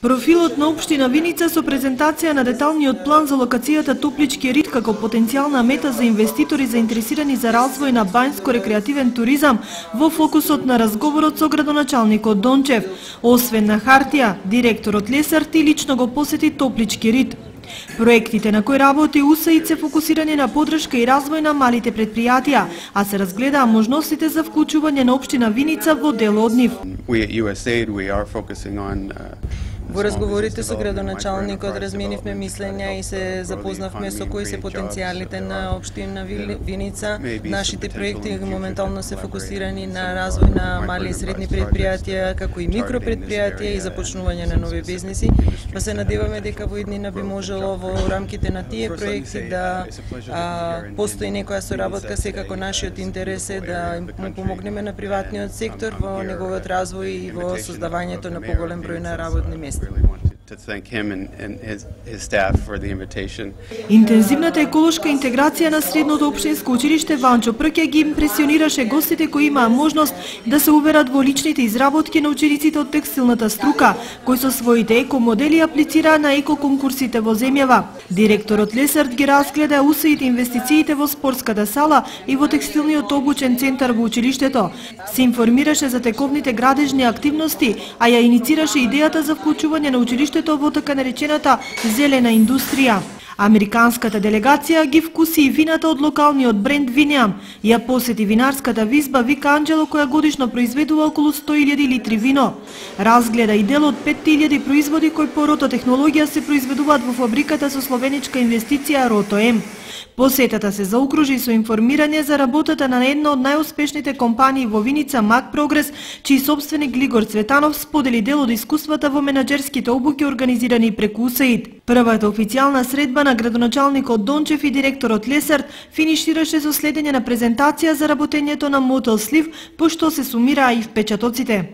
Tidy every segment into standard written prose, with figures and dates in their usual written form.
Профилот на општина Виница со презентација на деталниот план за локацијата Топлички рид како потенцијална мета за инвеститори заинтересирани за развој на бањско-рекреативен туризам во фокусот на разговорот со градоначалникот Дончев. Освен на хартија, директорот Лесарти лично го посети Топлички рид. Проектите на кои работи УСАИД се фокусирани на подршка и развој на малите предпријатија, а се разгледаа можностите за вклучување на општина Виница во дел од нив. Во разговорите со градоначалникот разменивме мислења и се запознавме со кои се потенцијалите на општина Виница. Нашите проекти моментално се фокусирани на развој на мали и средни предпријатија, како и микропредпријатија и започнување на нови бизниси. Па се надеваме дека во иднина би можело во рамките на тие проекти да постои некоја соработка. Секако нашиот интерес е да му помогнеме на приватниот сектор во неговиот развој и во создавањето на поголем број на работни места. Интензивната еколошка интеграција на средното општинско училиште Ванчо Прке ги импресионираше гостите кои имаа можност да се уверат во личните изработки на учениците од текстилната струка, кои со своите екомодели аплицираа на екоконкурсите во земјава. Директорот Лесарт ги разгледа УСАИД инвестициите во спортската сала и во текстилниот обучен центар во училиштето. Се информираше за тековните градежни активности, а ја иницираше идејата за вклучување на училиштето во така наречената зелена индустрија. Американската делегација ги вкуси и вината од локалниот бренд Винеам. Ја посети винарската визба Вика Анджело, која годишно произведува околу 100.000 литри вино. Разгледа и дел од 5.000 производи кои по рототехнологија се произведуваат во фабриката со словеничка инвестиција Рото-М. Посетата се заокружи со информирање за работата на една од најуспешните компании во Виница, Мак Прогрес, чиј собственик Глигор Цветанов сподели дел од искуствата во менаџерските обуки организирани преку УСАИД. Првата официјална средба на градоначалникот Дончев и директорот Лесарт финишираше со следење на презентација за работењето на Мотел Слив, пошто се сумираа и впечатоците.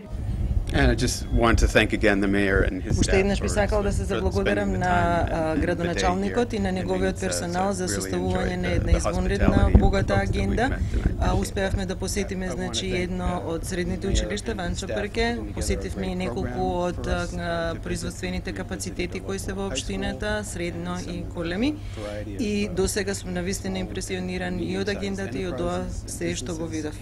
Уште еднаш би сакал да се заблагодарам на градоначалникот и на неговиот персонал за составување на една извонредна, богата агенда. Успеавме да посетиме едно од средните училишта Ванчо Прке, посетивме и неколку од производствените капацитети кои се во општината, средно и големи. И досега сум навистина импресиониран и од агендата и од тоа се што го видов.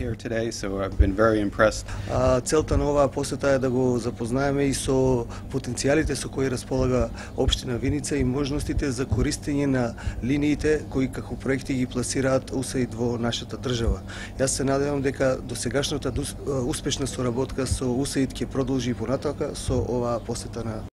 Целта на оваа посета е да го запознаеме и со потенцијалите со кои располага општина Виница и можностите за користење на линиите кои како проекти ги пласираат УСАИД во нашата држава. Јас се надевам дека досегашната успешна соработка со УСАИД ќе продолжи и понатака со оваа посета на